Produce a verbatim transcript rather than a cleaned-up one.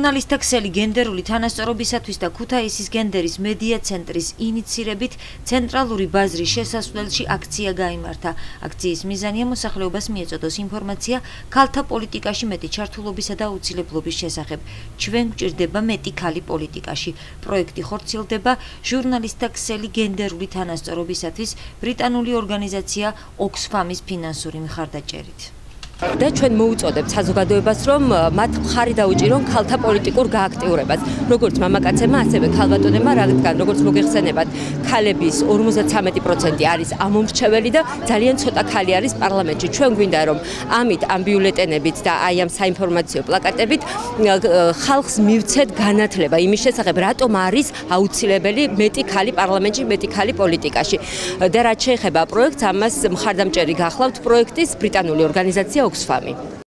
ჟურნალისტთა ქსელი გენდერული თანასწორობისათვის და ქუთაისის გენდერის მედია ცენტრის ინიცირებით ცენტრალური ბაზრის შესასვლელში აქცია გაიმართა. აქციის მიზანია მოსახლეობას მიეწოდოს ინფორმაცია ქალთა პოლიტიკაში მეტი ჩართულობისა და აუცილებლობის შესახებ. ჩვენ გვჭირდება მეტი ქალი პოლიტიკაში. პროექტი ხორციელდება ჟურნალისტთა ქსელი გენდერული თანასწორობისათვის ბრიტანული ორგანიზაცია ოქსფამის ფინანსური მხარდაჭერით. და ჩვენ მოუწოდებთ საზოგადოებას, რომ მათ მხარი დაუჭირონ ქალთა პოლიტიკურ გააქტიურებას. როგორც მამაკაცებმა, ასევე ქალბატონებმა, რადგან როგორც მოგეხსენებათ, ქალების ორმოცდათვრამეტი პროცენტი არის ამომრჩეველი და ძალიან ცოტა ქალი არის პარლამენტში. ჩვენ გვინდა, რომ ამით ამ ბიულეტენებით და აი ამ საინფორმაციო პლაკატებით ხალხს მივცეთ განათლება იმის შესახებ, რატომ არის აუცილებელი მეტი ქალი პარლამენტში, მეტი ქალი პოლიტიკაში. და რაც შეეხება პროექტს, ამას მხარდამჭერი გახლავთ პროექტის ბრიტანული ორგანიზაცია ოქსფამი.